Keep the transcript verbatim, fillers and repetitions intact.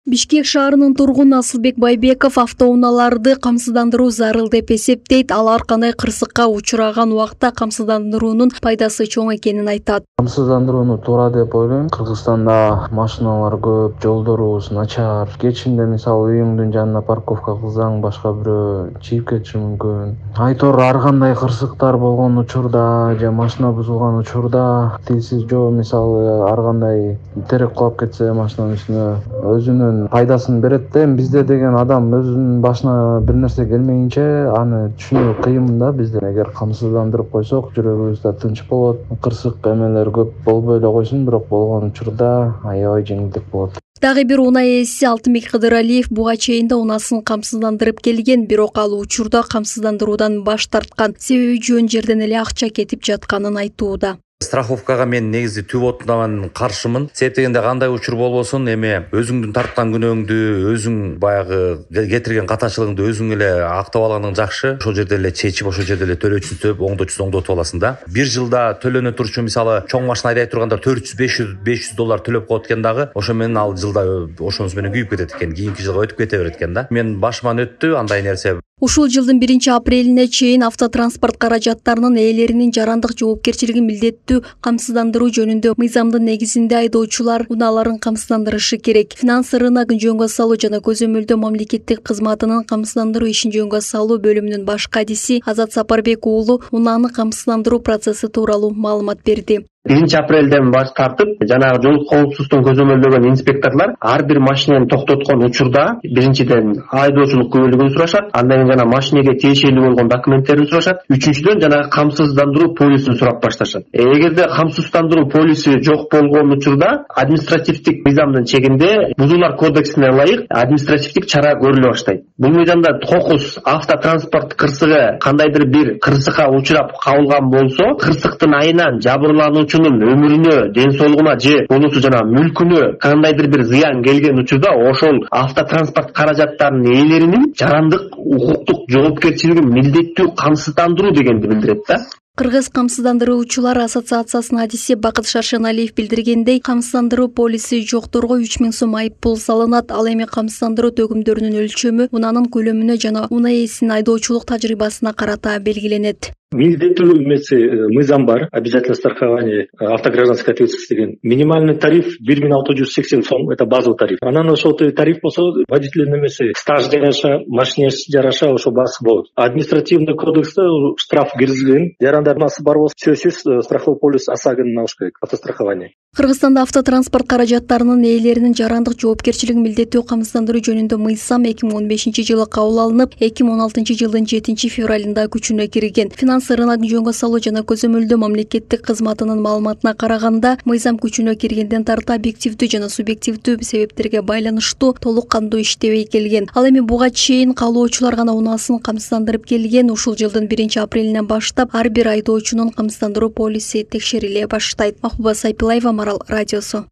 Бишкек шаарынын тургуну Асылбек Байбеков автоунааларды камсыздандыруу зарыл деп эсептейт. Ал ар кандай кырсыкка учураган убакта камсыздандыруунун пайдасы чоң экенин айтат. Камсыздандырууну туура деп ойлойм. Кыргызстанда машиналар көп, жолдорубуз начар. Кечинде мисалы үйүңдүн жанына парковка кылсаң, башка бирөө чийип кетиши мүмкүн. Айтор ар кандай кырсыктар болгон учурда же машина бузулган учурда тилсиз жөө мисалы ар кандай терек кулап кетсе машинанын үстүнө өзүнүн пайдасын берет да. Бизде деген адам өзүнүн башына бир нерсе келмейинче аны түшүнүү кыйын да. Бизде эгер камсыздандырып койсок, жүрөгүбүз да тынч болот. Кырсык эмелер көп болбой эле койсун, бирок болгон учурда аябай жеңилдик болот. Дагы бир унаа ээси Алтынбек Кыдыралиев буга чейин да унаасын камсыздандырып келген, бирок ал учурда камсыздандыруудан баш тарткан. Себеби жөн жерден эле акча кетип жатканын айтууда. Страховкага мен негизи түп отунан каршымын. Себеп дегенде кандай учур болбосун, эми өзүңдүн тарткан күнөөңдү, өзүң баягы кетирген катачылыгыңды өзүң эле актап алганың жакшы. Ошол жерде эле чечип, ошол жерде эле төлөөчүн төлөп, оңдоочусун оңдотуп аласың да. Бир жылда төлөнө турчу мисалы чоң машина айдай турганда төрт жүз беш жүз доллар төлөп коет экен дагы. Ошо менен ал жылда ошонусу менен күйүп кетет экен. Кийинки жылга өтүп кете берет экен да. Мен башыман өттү андай нерсе. Ушул жылдын биринчи апрелине чейин автотранспорт каражаттарынын ээлеринин жарандык жоопкерчилигин милдеттүү камсыздандыруу жөнүндө мыйзамдын негизинде айдоочулар унааларын камсыздандырышы керек. Финанс рыногун жөнгө салуу жана көзөмөлдөө мамлекеттик кызматынын камсыздандыруу ишин жөнгө салуу бөлүмүнүн баш кадиси Азат Сапарбек уулу унааны камсыздандыруу процесси тууралуу маалымат берди. биринчи апрелден баш тартып, жанагы жол коопсуздугун көзөмөлдөгөн инспекторлор ар бир машинаны токтоткон учурда биринчиден айдоочулук күбөлүгүн сурашат, андан кийин жана машинеге тиешелүү болгон документтерин сурашат, үчүнчүдөн жанагы камсыздандыруу полисин сурап башташат. Эгерде камсыздандыруу полиси жок болгон учурда административдик мыйзамдын чегинде Бузуулар кодексине ылайык административдик чара көрүлө баштайт. Бул мыйзамда кокус автотранспорт кырсыгы кандайдыр бир кырсыкка учурап кабылган болсо, кырсыктын айынан жабырлануучу өмүрүнө, ден соолугуна же болбосо жана мүлкүнө кандайдыр бир зыян келген учурда ошол автотранспорт каражаттарынын ээлеринин жарандык укуктук жоопкерчилигин милдеттүү камсыздандыруу дегенди билдирет да. Кыргыз камсыздандыруучулар ассоциациясынын адиси Бакыт Шаршеналиев билдиргендей, камсыздандыруу полиси жокторго үч миң сом айып пул салынат. Ал эми камсыздандыруу төгүмдөрүнүн өлчөмү унаанын көлөмүнө жана унаа ээсинин айдоочулук тажрыйбасына карата белгиленет. Милдеттүү эмеси мыйзам бар, обязательное страхование автогражданской ответственности деген. Минимальный тариф бир миң алты жүз сексен сом, это базовый тариф. Анан ошол тариф болсо водителдин эмеси стаж жараша, машине жараша ошо басы болот. Административный кодексте штраф киргизилген. Жарандарнасы бар болсо сөзсүз страховой полис ОСАГОны алыш керек, автострахование. Кыргызстанда автотранспорт каражаттарынын ээлеринин жарандык жоопкерчилигин милдеттүү камсыздандыруу жөнүндө мыйзам эки миң он бешинчи жылы кабыл алынып, эки миң он алтынчы жылдын жетинчи февралында күчүнө кирген. Финанс рыногун жөнгө салуу жана көзөмөлдөө мамлекеттик кызматынын маалыматына караганда, мыйзам күчүнө киргенден тарта объективдүү жана субъективдүү себептерге байланыштуу толук кандуу иштебей келген. Ал эми буга чейин каалоочулар гана унаасын камсыздандырып келген. Ушул жылдын биринчи апрелинен баштап ар бир айдоочунун камсыздандыруу полиси текшериле баштайт. Махбуба Сайпилаева, Марал радиосу.